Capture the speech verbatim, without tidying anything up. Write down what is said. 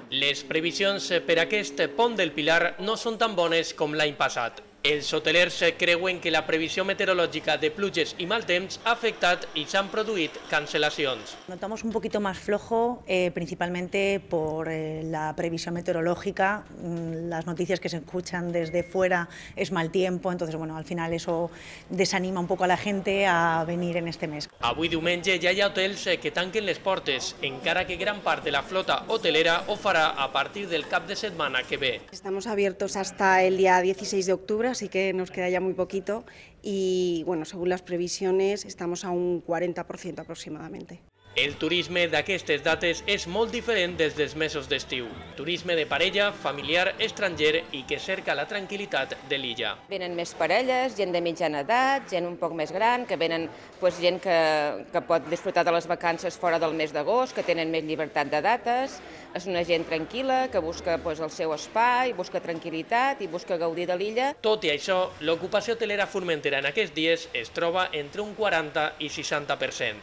Les previsions per aquest pont del Pilar no són tan bones com l'any passat. Els hotelers creuen que la previsió meteorològica de pluges i mal temps ha afectat i s'han produït cancelacions. Notamos un poquito más flojo, eh, principalmente por eh, la previsión meteorológica. Las noticias que se escuchan desde fuera es mal tiempo, entonces bueno, al final eso desanima un poco a la gente a venir en este mes. Avui diumenge ja hi ha hotels que tanquen les portes, encara que gran part de la flota hotelera ho farà a partir del cap de setmana que ve. Estamos abiertos hasta el día dieciséis de octubre, así que nos queda ya muy poquito y bueno, según las previsiones estamos a un cuarenta por ciento aproximadamente. El turisme d'aquestes dates és molt diferent des dels mesos d'estiu. Turisme de parella, familiar, estranger i que cerca la tranquil·litat de l'illa. Venen més parelles, gent de mitjana edat, gent un poc més gran, que venen pues, gent que, que pot disfrutar de les vacances fora del mes d'agost, que tenen més llibertat de dates. És una gent tranquil·la, que busca pues, el seu espai, busca tranquil·litat i busca gaudir de l'illa. Tot i això, l'ocupació hotelera a Formentera en aquests dies es troba entre un quaranta i seixanta per cent.